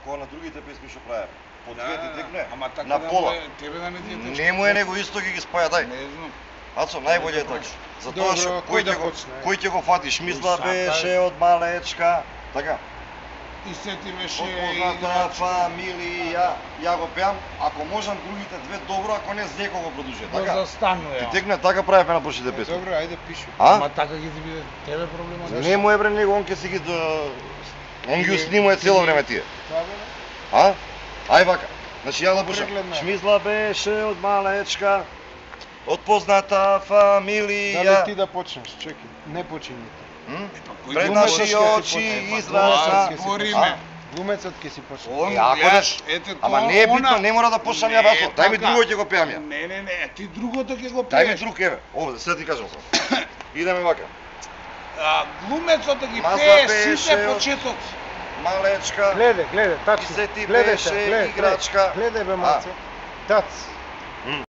кога на другите песми што правев. По две ти текне, ама така на пола. Тебе да не ти тече. Не му е него исто ги спаја, дај. Не знам. Ацо, најбоље е така. Затоа што Добро, кој ќе го фатиш? Мисла Сакај. беше од малечка, така. И се ти беше Позната фамилија, ја го пеам, ако можам другите две добро, ако не с некој го продолжи, го така? застанува. Ти текне така правевме на почните песми. Добро, ајде пиши. Ама А? така ги ти биде тебе проблема. Не му е бре него, он ќе си ги он ги снимува цело време тие. Тоа бе? А? Ај вака. Значи ја да пушам. Прегледна. Шмизла беше од малечка, од позната Дали фамилија. ти да почнеш? Чекай, не почини. Пред Глумецот наши ќе си очи почне. излаза. Ќе си Збориме. почне. Глумецот ќе си почне. Ако даш, ама не е битно, не мора да почнам ја басо. Дај ми друго ќе го пеам ја. Не, ти другото ќе го Дај ми пееш. друг еве. Овде сега ти кажам само. Идеме вака. Глумецот да ги Маза пее беше сите од- почетоци. Малечка. Гледе, И тачно. се ти Гледај беше се, гледај, играчка. Гледај бе, маце. Тац.